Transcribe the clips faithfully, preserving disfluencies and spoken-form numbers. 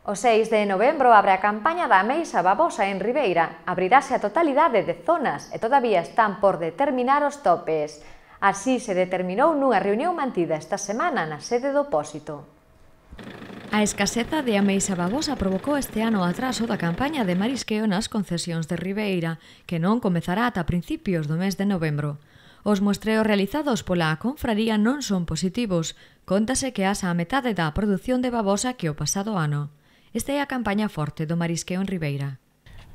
O seis de novembro abre a campaña da ameixa babosa en Ribeira. Abrirase a totalidade de zonas e todavía están por determinar os topes. Así se determinou nunha reunión mantida esta semana na sede do Pósito. A escaseza de ameixa babosa provocou este ano o atraso da campaña de marisqueo nas concesións de Ribeira, que non comezará ata principios do mes de novembro. Os muestreos realizados pola confraría non son positivos. Cóntase que asa a metade da produción de babosa que o pasado ano. Esta é a campaña forte do marisqueo en Ribeira.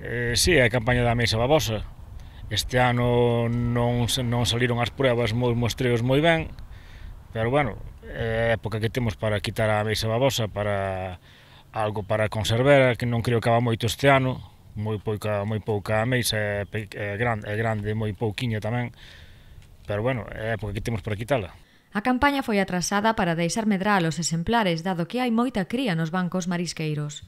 Eh, si, é a campaña da ameixa babosa. Este ano non, non saliron as pruebas moi mostreos moi ben, pero bueno, é a época que temos para quitar a ameixa babosa, para algo para conservar, que non creo que haga moito este ano, moi pouca, moi pouca ameixa, é, é grande, é grande, moi pouquiña tamén, pero bueno, é a época que temos para quitala. A campaña foi atrasada para deixar medrar os exemplares, dado que hai moita cría nos bancos marisqueiros.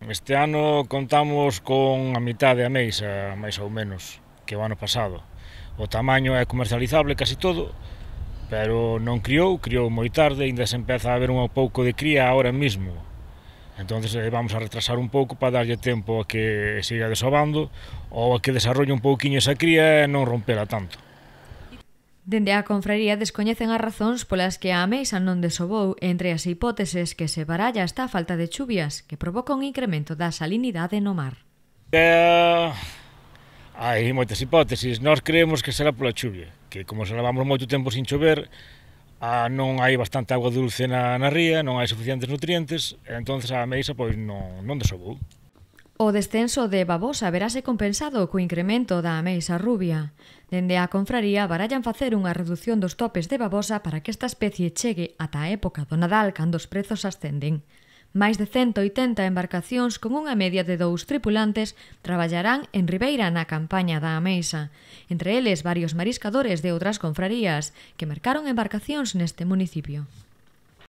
Este ano contamos con a mitad de ameixa, máis ou menos, que o ano pasado. O tamaño é comercializable casi todo, pero non criou, criou moi tarde, ainda se empeza a ver un pouco de cría ahora mismo. Entón vamos a retrasar un pouco para darlle tempo a que siga desovando ou a que desarrolle un pouquiño esa cría e non rompela tanto. Dende a confraría descoñecen as razóns polas que a ameixa non desovou. Entre as hipóteses que se baralla está a falta de chuvias, que provoca un incremento da salinidade no mar. Eh, hai moitas hipótesis. Nós creemos que será pola chuvia, que como se levamos moito tempo sin chover, ah, non hai bastante agua dulce na, na ría, non hai suficientes nutrientes, e entón a ameixa pois non, non desovou. O descenso de babosa verase compensado co incremento da ameixa rubia. Dende a confraría barallan facer unha reducción dos topes de babosa para que esta especie chegue ata a época do Nadal cando os prezos ascenden. Máis de cento oitenta embarcacións con unha media de dous tripulantes traballarán en Ribeira na campaña da ameixa, entre eles varios mariscadores de outras confrarías que mercaron embarcacións neste municipio.